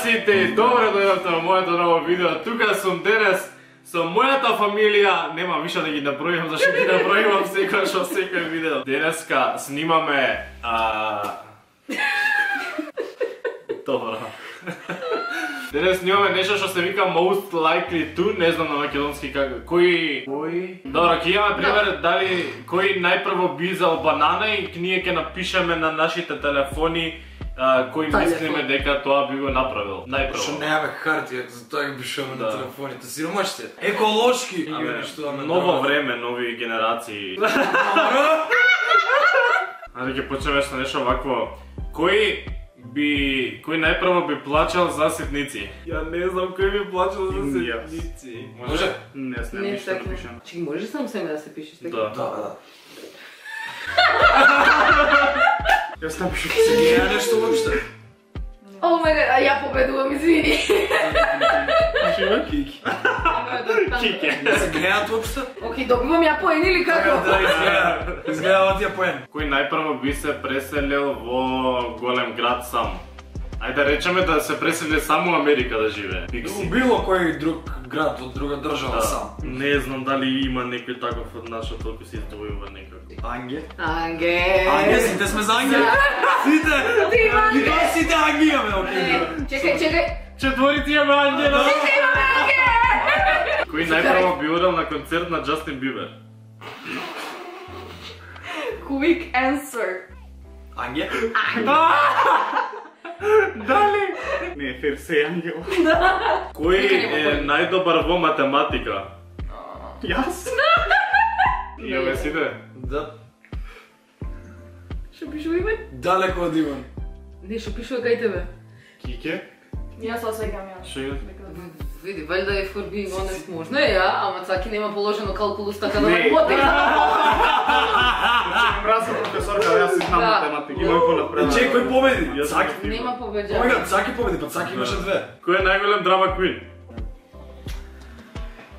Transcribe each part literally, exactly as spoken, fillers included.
сите и добро дојдовте во моето ново видео. Тука сум денес со мојата фамилија. Нема више да ги набројувам, зашто ги набројувам секојаш во секој видео. Денеска снимаме Добро. Денес снимаме нешто што се вика most likely to, не знам на македонски како. Кој кој? Добро, ќе имаме пример дали кој најпрво би изел банана и ние ќе напишеме на нашите телефони кој мислиме дека тоа би го направил. Најпрво. Што немаме хартија, затоа ги пишуваме на телефоните. Сиромашите. Еколошки. Ново време, нови генерации. Ајде ќе почнеме со нешто вакво. Кој би кој најпрво би плачал за ситници? Ја не знам кој би плачал за ситници. Може? Не знам ништо да пишам. Чекај, може сам себе да се пишеш така? Да. Да, да. Јас не пишам Се не е нешто воопште. О мај гад, а ја победувам, извини. Пишеме Кики. Кики. Не се гледаат воопште? Океј, добивам ја поен или како? Да, изгледа. Изгледа тие поен. Кој најпрво би се преселил во голем град сам? Ајде да речеме да се пресели само во Америка да живее. У било кој друг град од друга држава сам. Не знам дали има некој таков од нас што толку се издвојува некако. Анге? Анге. Анге, сите сме за Анге? Сите? Ти има Анге. И тоа сите Анге имаме, окей. Чекај, чекај. Четворици имаме Ангела. Сите имаме Анге. Кој најпрво би одел на концерт на Џастин Бибер? Quick answer. Анге? Дали? Не, фер се Ангел. Кој е најдобар во математика? Јас? Имаме сите? Да. Што пишува име? Далеко од Иван. Не, што пишува кај тебе? Кике? Јас осеќам ја. Што е? Види, валјда е for being honest можно е ја, ама Цаки нема положено калкулус така да Не. математика. Мразам професорка, јас си знам математика. Имам понапред. Чеј, кој победи? Цаки. Нема побеđа. Омега, Цаки победи, па Цаки имаше две. Кој е најголем драма квин?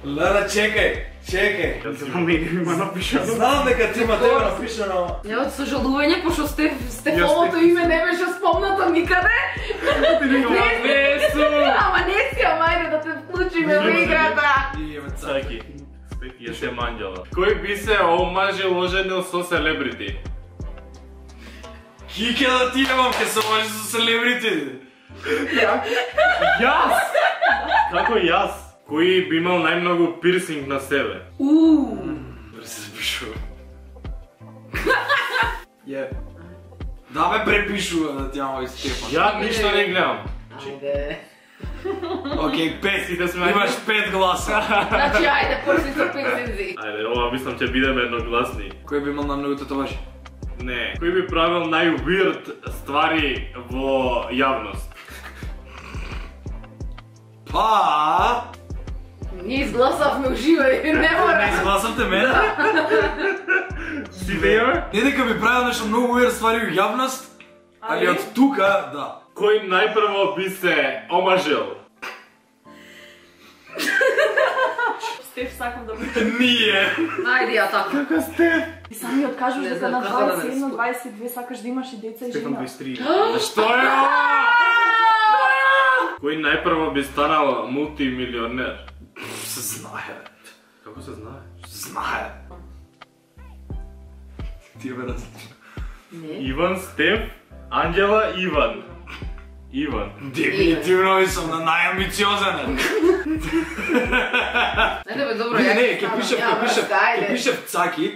Лера, чекај, чекај. Јас знам и има напишано. Знам дека ти има тебе напишано. Ја од сожалување, пошто Стеф, Стефоното име не беше спомнато никаде. Не су! Ама не си, ама ајде да те вклучиме во играта. Иеме Цаки. Цаки. Јас е Манđела. Кој би се омажил оженил со селебрити? Кике да ти немам, ке се може со селебрити. Јас! Како јас? Кој би имал најмногу пирсинг на себе? Ууу. Да се запишува. Је. Да ме препишува да ти имам Стефан. Ја ништо не гледам. Ајде. Океј, пет. Сите сме Имаш пет гласа. Значи, ајде, почни со пирсинзи. Ајде, ова мислам ќе бидеме едногласни. Кој би имал најмногу татуажи? Не. Кој би правил најуирд ствари во јавност? Па... Ние изгласавме уживо и не мора. Не изгласавте мене? Сите имаме? Не дека би правил нешто многу уер ствари во јавност, али од тука, да. Кој најпрво би се омажил? Стеф, сакам да бидам. Ние. Ајде ја така. Како сте? И сами откажуваш Не дека знам на како да дваесет и едно не дваесет и две сакаш да имаш и деца и жена. Што е ова? Кој најпрво би станал мултимилионер? Се знае. Како се знае? Знае. Тие ме различни. Не. Иван, Стеф, Анđела, Иван. Иван. Дефинитивно и сум на најамбициозен. Ајде бе, добро, Не, ја не, ќе ќе станам. пишев, Ја, ќе пишев, браска, ајде. ќе пишев Цаки,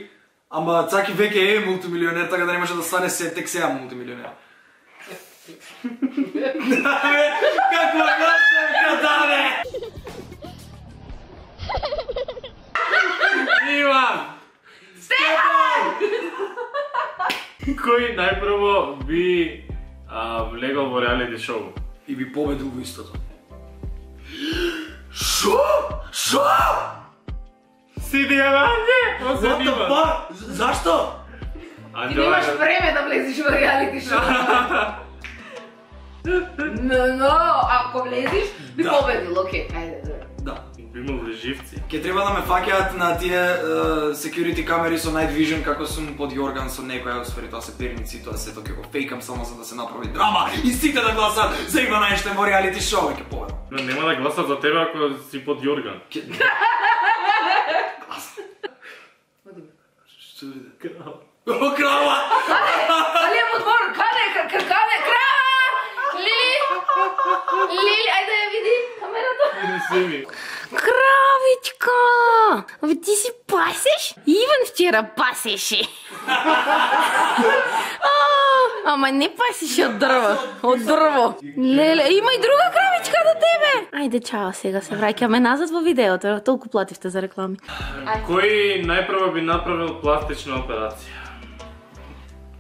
ама Цаки веќе е мултимилионер, така да не може да стане се тек сега мултимилионер. Каква гласа даде! Иван! Стефан! Кој најпрво би влегол во реалити шоу? И би победил во истото. Шо? Шо? Сиди Анđe! What the fuck? Зашто? Ти немаш време да влезеш во реалити шоу. Но, но, ако влезеш, би Да. победил, окей, ајде, добро. Да. Би имал ли живци? Ке треба да ме фаќаат на тие uh, security камери со night vision како сум под Јорган со некоја, освари тоа се перници, тоа се тоа ќе го фейкам само за да се направи драма и сите да гласат за Иван Ајнштајн во реалити шоу ќе победам. Но нема да гласат за тебе ако си под Јорган. Што биде? Крава. О, крава! Али е во двор, каде, каде, крава! Лили! Лили, ајде ја види камерата. Не се ми. Кравичка! Абе ти си пасеш? Иван вчера пасеше. Ама не пасеше од дрво, од дрво. Леле, има и друга кравичка до тебе. Ајде, чао, сега се враќаме назад во видеото, толку плативте за реклами. Кој најпрво би направил пластична операција?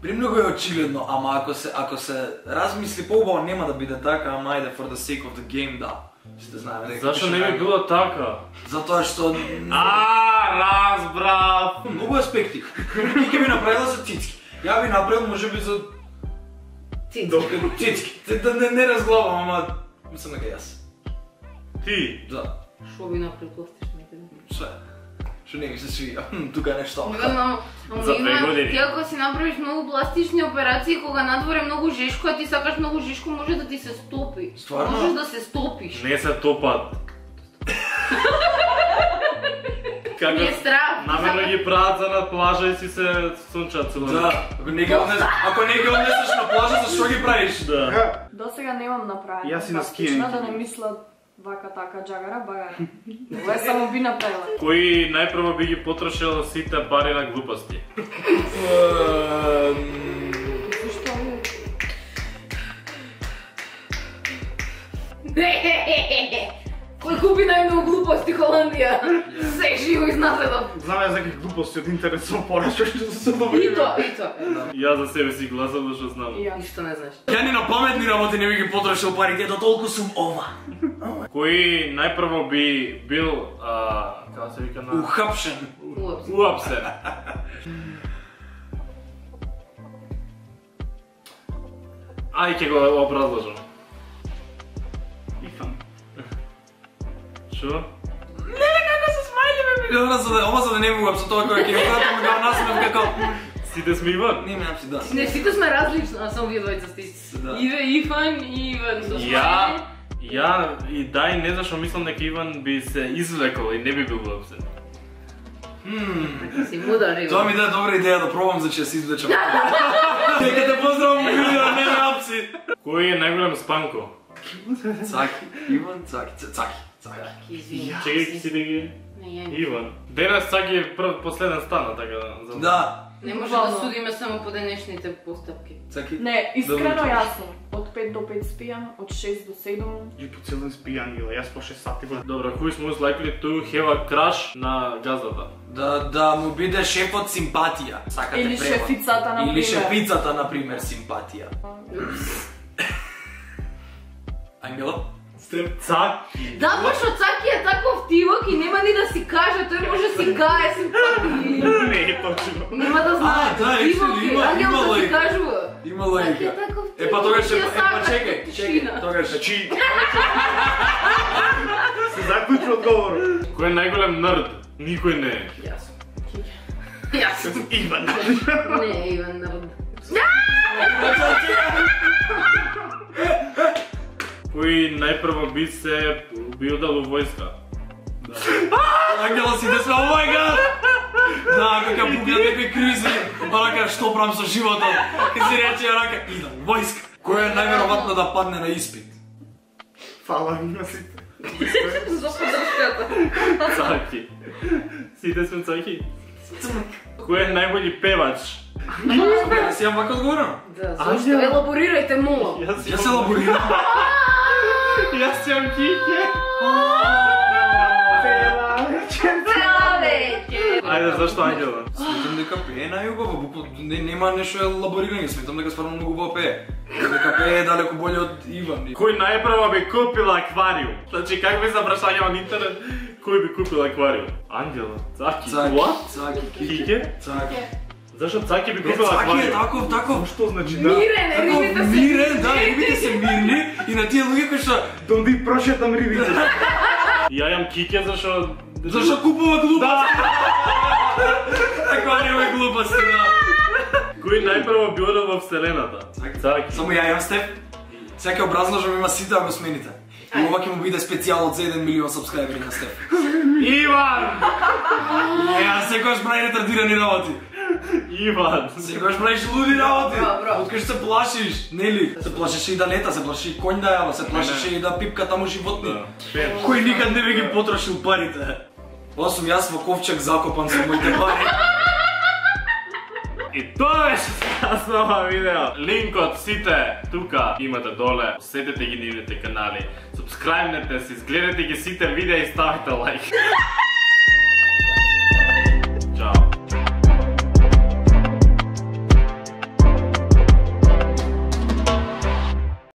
Премногу е очигледно, ама ако се ако се размисли поубаво нема да биде така, ама ајде for the sake of the game да. Сте знаеме дека. Зашо не би било така? Затоа што А, разбрав. многу аспекти. Ти ќе би направила за цицки. Ја би направил можеби за Цицки. цицки. Да не, не разглавам, ама мислам дека јас. Ти? Да. Шо би направил пластично некаде? Све. Што не ми се свија. Тука е нешто. Ама, ама За две има, години. ти ако си направиш многу пластични операции, кога надвор е многу жешко, а ти сакаш многу жешко, може да ти се стопи. Стварно? Можеш да се стопиш. Не се топат. Како Не е страх. намерно ги прават за на плажа и си се сончат цело. Да, ако не ги однесеш, ако не ги однесеш на плажа, зашто ги правиш? Да. До сега немам направено. Јас си на пластична, скијање. да не мислат вака така джагара багара. Ова само би направила. Кој најпрво би ги потрошил сите пари на глупости? Зашто? Кој купи најмногу глупости Холандија? Се живо изназадов. Знам ја за какви глупости од интернет сум порачал што се добри. И тоа, и тоа. Јас за себе си гласам, зашто знам. И ја. Ништо не знаеш. Ја ни на паметни работи не би ги потрошил парите, до толку сум ова. Кој најпрво би бил, а, како се вика на... Ухапшен. Уапс. Уапсен. Ај ќе го образложам. Ифан. Шо? Ова за да, ова за да не му со тоа кој ќе го пратам го насмев како. Сите сме Иван? Не ме напси да. Не, сите сме различни, а само вие двајца сте исти. Да. Иве, Ифан и Иван. со Ја, ја и дај не зашо мислам дека Иван би се извлекол и не би бил уапсен. смајле. Си мудар, Иван. Тоа ми даде добра идеја да пробам за че се извлечам. Дека те поздравам видео, не ме апси. Кој е најголем спанко? Цаки, Иван, Цаки, Ц- Цаки, Цаки. Извини. Чекај си да ги... Не, ја не. Иван. Денес Цаки е прв последен стана, така да... за- Да, Не може да судиме само по денешните постапки. Цаки. Не, искрено Добро. јасно. Од пет до пет спијам, од шест до седум. И по цел ден спијан, ила, јас по шест сати го. Добро, who is most likely to have a crush на газдата? Да, да му биде шефот симпатија. Сакате Или превод. шефицата, Или например. шефицата, например, симпатија. Ангела? Степ Цаки. Да, пошто Цаки е таков тивок и нема ни да си каже, тој може си кае симпатии. Не е точно. Нема да знае. А, да, Тивок actually, е, има- ангел има да си логика. кажува. Има Цаки логика. е таков Е, па тивок, тогаш ќе е, е, па сака чекај, чекај, тишина. тогаш е. Значи, се заклучи одговор. Кој е најголем нерд? Никој не е. Јас. Јас. Иван. Не, Иван народ. Кој најпрво би се би удал у војска? Ангела си да сме, о мај гад! Да, кога пугнат некои кризи, рака што правам со животот, ке си рече рака, идам, војска. Кој е најверојатно да падне на испит? Фала на сите. За подршката. Цаки. Сите сме Цаки. Кој е најбољи певач? Собе, си јам вака одговорам? Да, зашто? Елаборирајте молам. Јас Јас се лаборирам. Јас сум Кике. Ајде, зашто Ангела? Сметам дека пее најубаво, буквално не, нема нешто елаборирање, сметам дека стварно многу убаво пее. Дека пее далеку боле од Иван. Кој најпрво би купил аквариум? Значи, как би запрашања на интернет, кој би купил аквариум? Ангела, Цаки, Цаки, what? Цаки, Кике? Цаки. Зашто Цаки би Е, купил Цаки е аквариум? таков, таков. Што значи да? Мирен, е, Таков рибите се... мирен, да, рибите се мирни и на тие луѓе кои што Донди прошетам рибите. Ја јам киќе зашо... Зашо купува глупости? Таква нема глупости, да. Кој најпрво би одел во вселената? Цаки. Само ја јам Стеф. Сега ќе образложам има сите да го смените. И ова ќе му биде специјал од за еден милион сабскрајбери на Стеф. Иван! Ја секојаш прави ретардирани работи. Иван! Секојаш правиш луди работи. Браво, браво. Откај се плашиш, нели? Се плашеше и да лета, се плашеше и конј да јава, се плашеше и да пипка таму животни. Кој никад не би ги потрошил парите. Ова сум јас во ковчег закопан со моите пари. И тоа беше за ова видео. Линкот сите тука имате доле. Посетете ги нивните канали. Субскрајбнете се, изгледате ги сите видеа и ставите лайк.